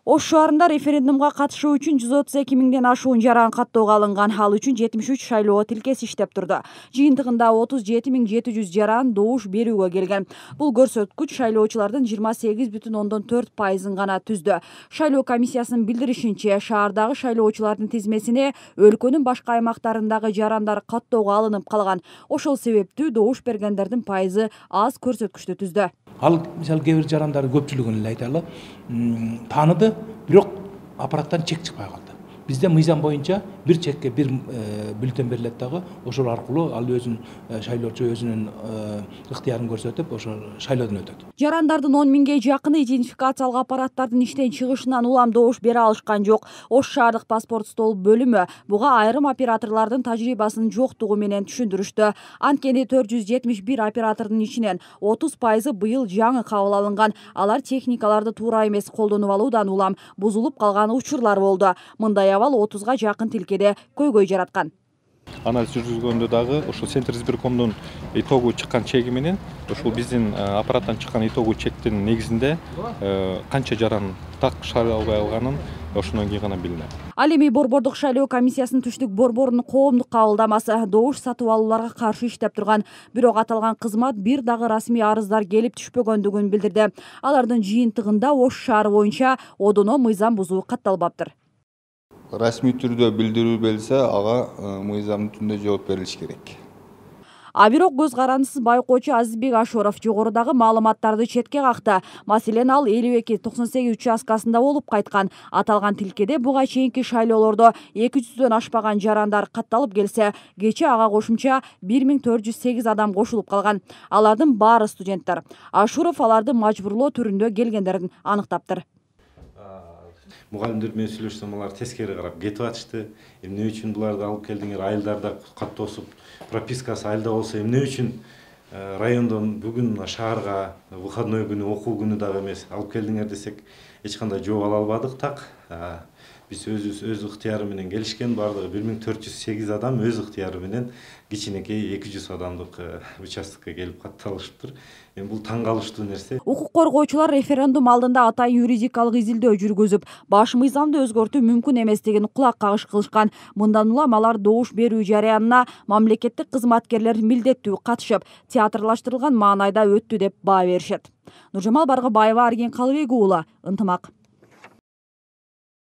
Ош шаарында референдумга катышуу үчүн 132 миңден ашуун жаран каттоого алынган. Ал үчүн 73 шайлоо тилкеси иштеп турду. Жыйынтыгында 37.700 жаран добуш берүүгө келген. Бул көрсөткүч шайлоочулардын 28,4%-ын гана түздү. Шайлоо комиссиясынын билдиришинче, шаардагы шайлоочулардын тизмесине өлкөнүн башка аймактарындагы жарандар каттоого алынып калган. Ошол себептүү добуш бергендердин пайызы аз көрсөткүчтү түздү. Ал мисалы кээ бир жарандардын көпчүлүгүн эле айталы, тааныды, бирок аппараттан чек чыкпай калды. Бизде мыйзам боюнча бир чекке бир бюллетень берилет дагы, ошол аркылуу ал өзүнүн шайлоочу өзүнүн ыктыярын көрсөтүп, ошо шайлоодон өтөт. Жарандардын 10 миңге жакыны идентификациялык аппараттардын иштен чыгышынан улам добуш бере алышкан жок. Ош шаардык паспорт стол бөлүмү буга айрым операторлордун тажрыйбасынын жоктугу менен түшүндүрүштү. Анткени 471 оператордун ичинен 30% быйыл жаңы кабыл алынган. Алар техникаларды туура эмес колдонуп алуудан улам бузулуп калган учурлар болду. Мындай абал 30га жакын тилкеде көйгөй жараткан. Анализ жүргүзгөндө дагы ошол Центризбиркомдун итогу чыккан чеги менен ошол биздин аппараттан чыккан итогу чектин негизинде канча жаран так шайлай албай калганын ошондон кийин гана билинет. Ал эми Борбордук шайлоо комиссиясынын түштүк борборунун коомдук кабылдамасы добуш сатып алууларга каршы иштеп турган. Бирок аталган кызмат бир дагы расмий арыздар келип түшпөгөндүгүн билдирди. Алардын жыйынтыгында Ош шаары боюнча одоно мыйзам бузуу катталбаптыр. Расмий түрдө билдирүү берилсе, ага мыйзамдын түрүндө жооп берилиш керек. А бирок көз карандысыз байкоочу Азизбек Ашоров жогорудагы маалыматтарды четке какты. Маселен, ал 52-98 участкасында болуп кайткан. Аталган тилкеде буга чейинки шайлоолордо 200дөн ашпаган жарандар катталып келсе, кечээ ага кошумча 1408 адам кошулуп калган. Алардын баары студенттер. Ашуров аларды мажбурлоо түрүндө келгендерин аныктаптыр. Мугалимдер менен сүйлөшсөм, алар тескери карап кетип атышты. Эмне үчүн буларды алып келдиңер? Айылдарда каттоосуп, пропискасы айылда болсо эмне үчүн райондон бүгүн шаарга выходной күнү, окуу күнү дагы эмес алып келдиңер десек, эч кандай жооп ала албадык так. Биз өз ыктыяры менен келишкен, бардыгы 1408 адам өз ыктыяры менен кичинекей 200 адамдык участкага келип катталышыптыр. Эми бул таң калыштуу нерсе. Укук коргоочулар референдум алдында атайын юридикалык изилдөө жүргүзүп, баш мыйзамды өзгөртүү мүмкүн эместигин кулак кагыш кылышкан. Мындан улам алар добуш берүү жарыянына мамлекеттик кызматкерлер милдеттүү катышып, театрлаштырылган маанайда өттү деп баа беришет. Нуржамал Баргыбаева, Арген Калыбек уулу, Ынтымак.